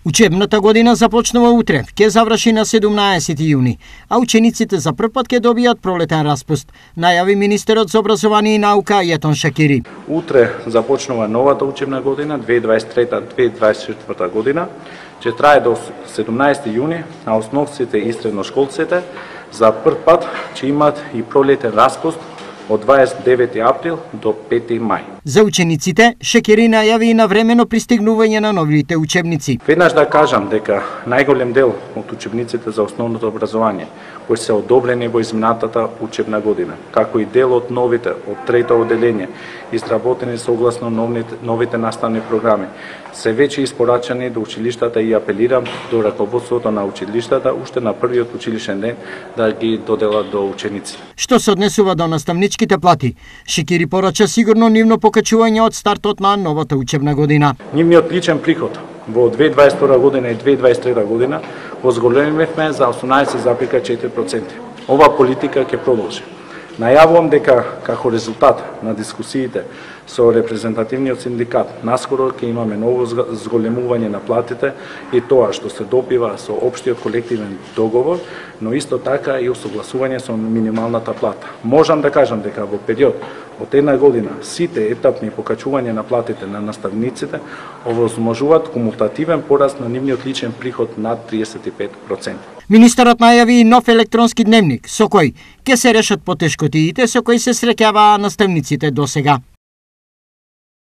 Учебната година започнува утре, ќе заврши на 17 јуни, а учениците за прв пат ќе добијат пролетен распуст, најави министерот за образование и наука Јетон Шакири. Утре започнува новата учебна година 2023-2024 година, ќе трае до 17 јуни, а основците и средношколците за прв пат ќе имаат и пролетен распуст од 29 април до 5 мај. За учениците, Шакири најави и навремено пристигнување на новите учебници. Веднаш да кажам дека најголем дел од учебниците за основното образование кои се одобрени во изминатата учебна година, како и дел од новите од трето одделение, изработени согласно новите наставни програми, се веќе испорачани до училиштата и апелирам до раководството на училиштата уште на првиот училишен ден да ги доделат до ученици. Што се однесува до наставничките плати, Шакири порача сигурно нивно покачување од стартот на новата учебна година. Нивниот личен приход во 2022 година и 2023 година го зголемивме за 18,4%. Ова политика ќе продолжи. Најавувам дека како резултат на дискусиите со репрезентативниот синдикат наскоро ќе имаме ново зголемување на платите и тоа што се допива со општиот колективен договор, но исто така и усогласување со минималната плата. Можам да кажам дека во период од една година сите етапни покачување на платите на наставниците овозможуваат кумулативен пораст на нивниот личен приход над 35%. Министерот најави и нов електронски дневник со кој ќе се решат потешкотиите со кои се среќаваа наставниците досега.